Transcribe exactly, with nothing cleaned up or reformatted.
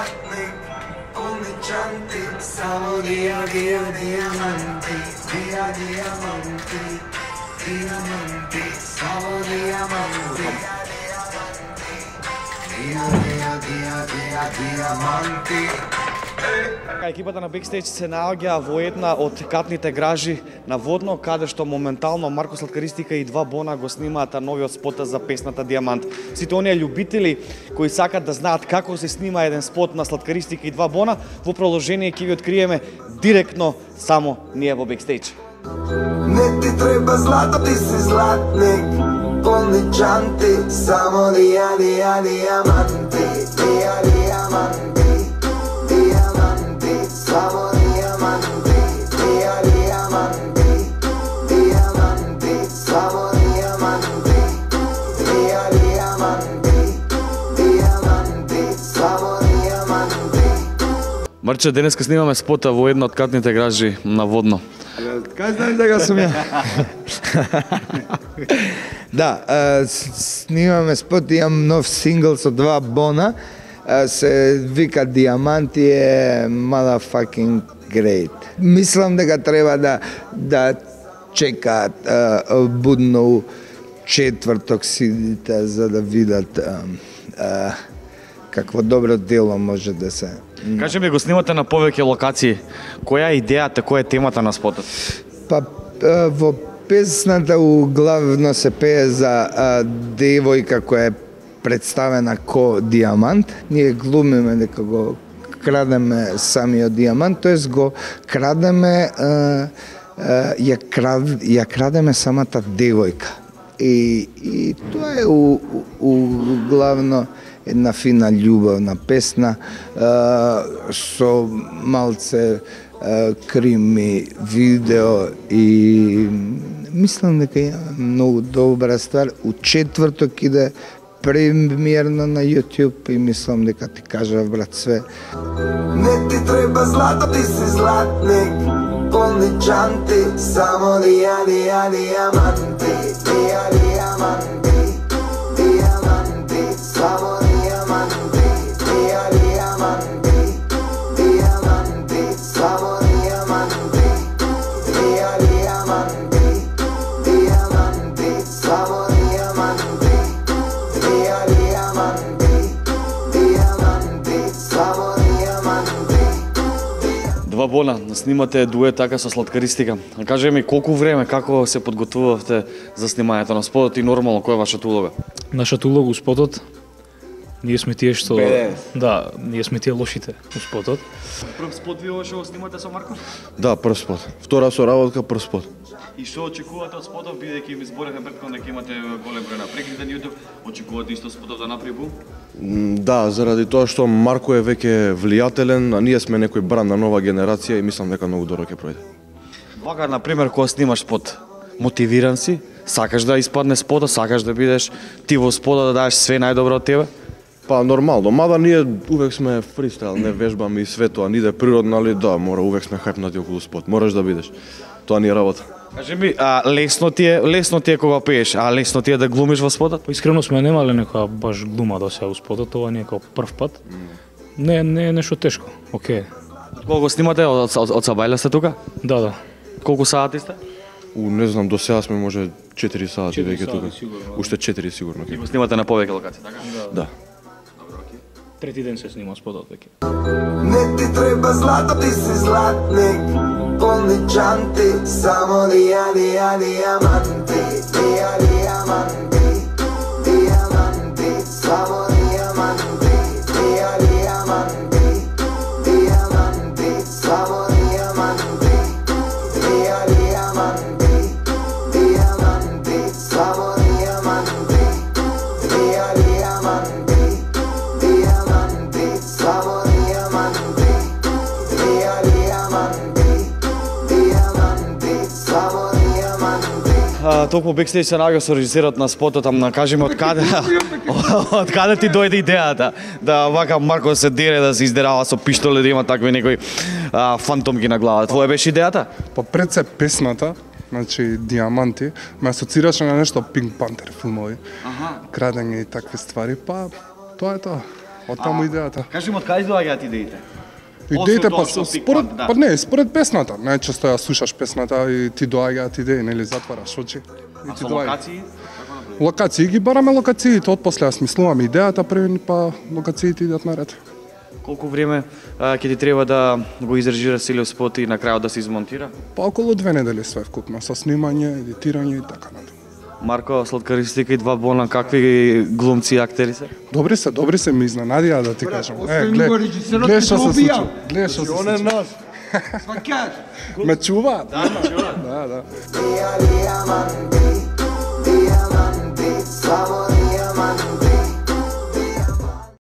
zlatnik, odličanti, samo dia, dia, diamanti, dia, diamanti, diamanti, samo diamanti, dia, dia, dia, dia, diamanti. Екипата на Бекстејдж се наоѓа во една од катните гражи на Водно, каде што моментално Марко Сладкаристика и Два Бона го снимаат новиот спот за песната Диамант. Сите оние љубители кои сакат да знаат како се снима еден спот на Сладкаристика и Два Бона, во продолжение ќе ви откриеме директно само ние во Бекстејдж. Не ти треба злато, ти си златник, odličanti, само dia, dia, diamanti, dia, diamanti, diamanti, samo diamanti, dia, diamanti, diamanti, samo diamanti, dia, diamanti, diamanti, samo diamanti. Марче, денеска снимаме спота во една од катните гражи на Водно. Кај знаеш дека сум ја? Да, снимаме спот, имам нов сингл со Два Бона, се вика Диаманти е motherfucking great. Мислам дека треба да да чекаат будно четврток сидите за да видат какво добро дело може да се. Кажи ми, го снимате на повеќе локации. Која е идејата, која е темата на спотот? Па во песната углавно се пее за а, девојка која е представена ко диамант. Ние глумиме дека го крадеме самиот диамант, тоест го крадеме, а, а, ја, крад, ја крадеме самата девојка. И, и тоа е у, у, углавно една фина љубавна песна а, со малце а, крими видео и мислам дека е многу добра ствар. У четврток иде премиерно на YouTube и мислам дека ти кажа брат све. Не ти треба злато, ти си златник, odličanti, само dia, dia, diamanti, dia, diamanti, diamanti, samo diamanti, dia, diamanti, diamanti, samo diamanti, dia, diamanti, diamanti, samo diamanti, dia, diamanti, diamanti, samo diamanti. Два Бона, снимате дует така со Сладкаристика. Кажи ми, колку време, како се подготвувавте за снимањето на спотот и нормално, која е вашата улога? Нашата улога у спотот, ние сме тие што... Бе. Да, ние сме тие лошите у спотот. Прв спот ви што го снимате со Марко? Да, прв спот. Втора соработка, прв спот. И што очекувате од спотов, бидејќи ми зборевме претходно дека имате голем број на прегледи на YouTube, очекувате исто спотов да направи бум? М, Да, заради тоа што Марко е веќе влијателен, а ние сме некој бран на нова генерација и мислам дека многу добро ќе пројде. Вака, например, кога снимаш спот, мотивиран си, сакаш да испадне спотот, сакаш да бидеш ти во спотот, да дадеш све најдобро од тебе? Па нормално, мада ние увек сме фристайл, не вежбаме и све тоа, ни да е природно, али да, мора увек сме хајпнати околу спот, мораш да бидеш. Тоа ни е работа. Кажи ми, а лесно ти е, лесно ти е кога пееш, а лесно ти е да глумиш во спотот? Па искрено сме немале некоја баш глума до сега у спотот, ова не е како прв пат. Не, не е нешто тешко, окей. Кога го снимате, од, од, од Сабајле сте тука? Да, да. Колку сати сте? У, не знам, до сега сме може четири сати Четири веќе сати, тука. сигурно. Уште четири сигурно. И го снимате на повеќе локации, така? Да. Трети ден се снима спотот веќе. Не ти треба злато, ти си златник, odličanti, samo dia, dia, diamanti, dia, diamanti, diamanti, samo diamanti, dia, diamanti, diamanti, samo diamanti, dia, diamanti, diamanti, samo diamanti, dia, diamanti, diamanti, samo diamanti, dia, diamanti, diamanti, samo diamanti. А, толку Бекстејдж се наоѓа со режисерот на спотот, ама кажеме од каде од каде ти дојде идејата да вака Марко се дере, да се издерава со пиштоле, да има такви некои а, фантомки на глава. Твоја беше идејата? Па пред се песната, значи Диаманти, ме асоцираше на нешто Pink Panther филмови, Аха. крадење и такви ствари, па тоа е тоа. од таму идејата. Кажи ми, од каде доаѓаат идеите? Идеите Освен па тоа што Big според Band, да. па не, според песната. Најчесто ја слушаш песната и ти доаѓаат идеи, нели затвараш очи и А ти со доаѓаат. локации? Локации ги бараме локациите, од после ја смислуваме идејата први, па локациите идат наред. Колку време а, ќе ти треба да го изрежира целиот спот и на крајот да се измонтира? Па околу две недели све вкупно, со снимање, едитирање и така натаму. Марко, Сладкаристика и два бона, какви глумци и актери се? Добри се, добри се, ми изненадија да ти кажам. Е, глед, го режисерот глед ќе што го се случи. убија. Глед што се случи. наш. Свакаш. Ме чува? Да, чува. Да, да. Diamante, diamante, sabor